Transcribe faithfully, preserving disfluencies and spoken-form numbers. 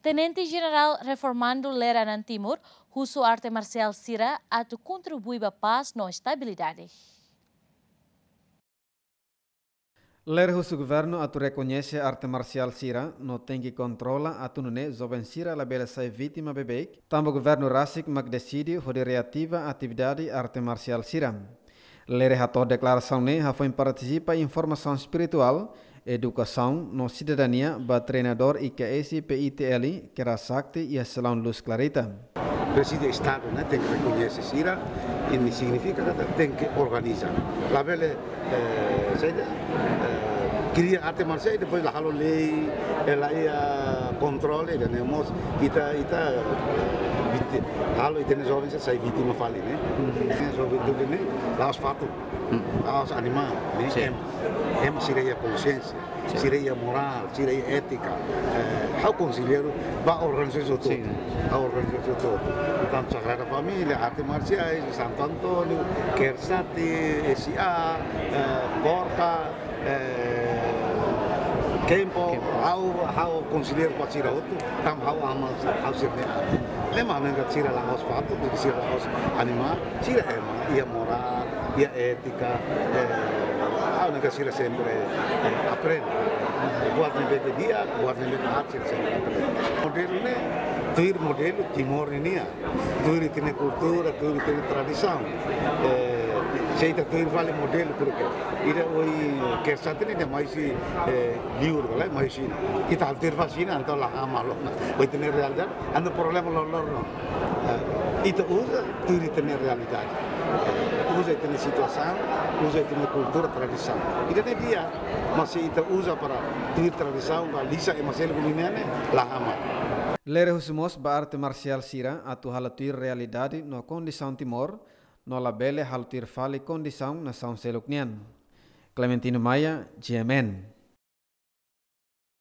Tenente Jenerál Reformandu Lere Anan Timur husu arte marsiál sira atu kontribui ba pás no estabilidade. Lere husu governu atu rekoñese arte marsiál sira no tenke kontrola atu nune'e joven sira labele sai vítima beibeik, tanba governu rasik mak deside hodi reativa atividade arte marsiál sira. Lere hato'o deklarasaun ne'e hafoin partisipa iha formasaun espirituál, edukasaun no sidadania ba treinadór I K S P I T L Kera Sakti iha Selaun Luz Clarita. Presídiu Estadu ne'e tenke rekoñese sira, i ne'e signifika katak tenke organiza. Labele, eh, saida, eh, kria arte marsiál i depois la halo lei, eh, la iha kontrole, ida-ne'e mós ita, ita, eh, víti-, halo ita-nia joven sira sai vítima fali, ne'e? Ne'e joven tuir ne'e la'ós fatuk, la'ós animál, ne'e? Sin. Ema, ema sira iha konxiénsia, sin, sira iha morál, sira iha étika. Eh, ha'u konselleiru ba organizasaun hotu. Sin. Ba organizasaun hotu. Tantu Sagrada Família, arte marsiais, Santo António, Kera Sakti, S A, eh, Korka, eh, Kempo, Kempo. Ha'u, ha'u konselleiru ba sira hotu, tanba ha'u ama, ha'u sira-nia an. Ne'e mak ha'u hanoin katak sira la'ós fatuk, sira la'ós animál, sira ema, iha morál, iha étika, eh, ha'u hanoin katak sira sempre, eh, aprende. Buat ne'ebé ke di'ak, buat ne'ebé ke aat, sira sempre aprende. Modelu ne'e, tuir modelu Timor ninian. Tuir ita-nia kultura, tuir ita-nia tradisaun. Eh, se ita tuir fali modelu, porque ida ohin Kera Sakti ne'e nia mai husi, eh, liur, ka lae, mai husi Xina. Ita halo tuir fali Xina, entaun la hamal ona. Ba ita-nia realidade, anu problema loroloron. Eh, ita uza tuir ita-nia realidade. Uza ita-nia situasaun, uza ita-nia kultura, tradisaun. Ida-ne'e di'ak, mas se ita uza para tuir tradisaun, ba lisa ema seluk nian ne'e, la hamal. Lere husu mós ba arte marsiál sira atu halo tuir realidade no kondisaun Timor, no labele halo tuir fali kondisaun nasaun seluk nian. Clementino Maia, G M N.